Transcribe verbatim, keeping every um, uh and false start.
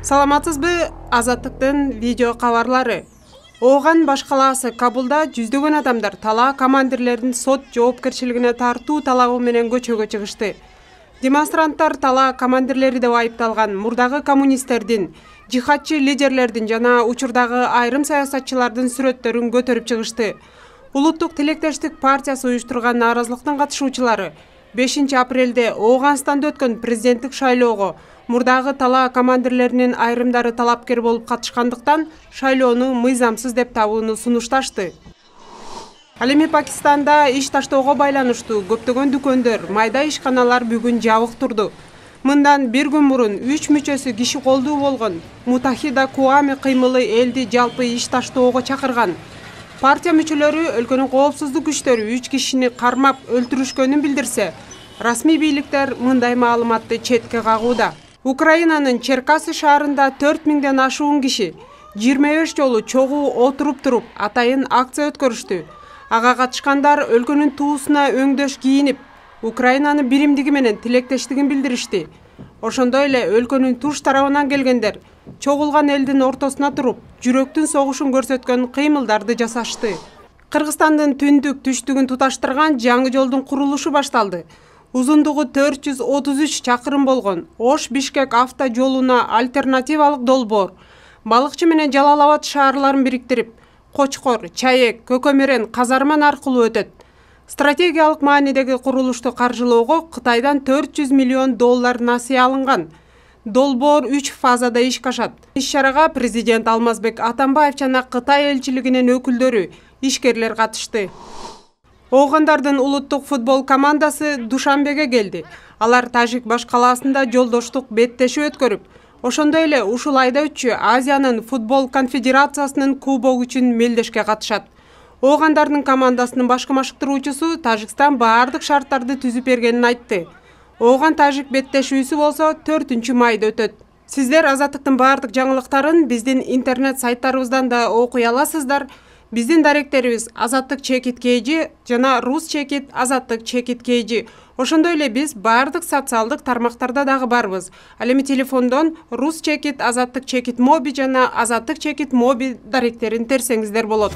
Саламатсызбы, Азаттыктын видео кабарлары. Ооган баш калаасы Кабулда жүздөгөн адамдар талаа командирлерин сот жоопкерчилигине тартуу талабы менен көчөгө чыгышты. Демонстранттар талаа командирлери деп айыпталган мурдагы коммунисттердин, жихадчы лидерлердин жана учурдагы айрым саясатчылардын сүрөттөрүн көтөрүп чыгышты. Улуттук тилектештик партиясы уюштурган нааразылыктын катышуучулары бешинчи апрелде Ооганстанда өткөн президенттик шайлоого мурдагы талаа командирлеринин айрымдары талапкер болуп катышкандыктан шайлоону мыйзамсыз деп табууну сунушташты. Ал эми Пакистанда иш таштоого байланыштуу көптөгөн дүкөндөр, майда ишканалар бүгүн жабык турду. Мындан бир күн мурун үч мүчөсү киши колдуу болгон Мутахида Куами кыймылы элди жалпы иш таштоого чакырган. Партия мүчөлөрү өлкөнүн коопсуздук күчтөрү үч кишини кармап өлтүрүшкөнүн билдирсе, расмий бийликтер мындай маалыматты четке кагууда. Украинанын Черкасы шаарында төрт миңден ашуун киши жыйырма беш жолу чогуу отуруп туруп атайын акция өткөрүштү. Ага катышкандар өлкөнүн туусуна өңдөш кийинип, Украинанын биримдиги менен тилектештигин билдиришти. Ошондой эле өлкөнүн туш тарабынан келгендер чогулган элдин ортосуна туруп, жүрөктүн согушун көрсөткөн кыймылдарды жасашты. Кыргызстандын түндүк түштүгүн туташтырган жаңы жолдун курулушу башталды. Узундугу төрт жүз отуз үч чакырым болгон Ош-Бишкек авто жолуна альтернативалык долбоор Балыкчы менен Жалал Абад шаарларын бириктирип, Кочкор, Чаек, Көкөмөрен, Казарман аркылуу өтөт. Стратегиялык маанидеги курулушту каржылоого Кытайдан төрт жүз миллион доллар насыя алынган. Долбоор үч фазада ишке ашат. Иш-чарага президент Алмазбек Атамбаев жана Кытай элчилигинин өкүлдөрү, ишкерлер катышты. Оогандардын улуттук футбол командасы Душанбеге келди. Алар Тажик баш калаасында жолдоштук беттешүү өткөрүп, ошондой эле ушул айда өтчү Азиянын футбол конфедерациясынын кубогу үчүн мелдешке катышат. Оогандардын командасынын башкы машыктыруучусу Тажикстан баардык шарттарды түзүп бергенин айтты. Ооган Тажик беттешүүсү болсо төртүнчү майда өтөт. Сиздер Азаттыктын баардык жаңылыктарын биздин интернет сайттарыбыздан да окуй аласыздар. Биздин даректерибиз Азаттык чекит kg жана Рус чекит Азаттык чекит kg. Ошондой эле биз баардык социалдык тармактарда дагы барбыз. Ал эми телефондон Рус чекит Азаттык чекит моби жана Азаттык чекит моби даректерин терсеңиздер болот.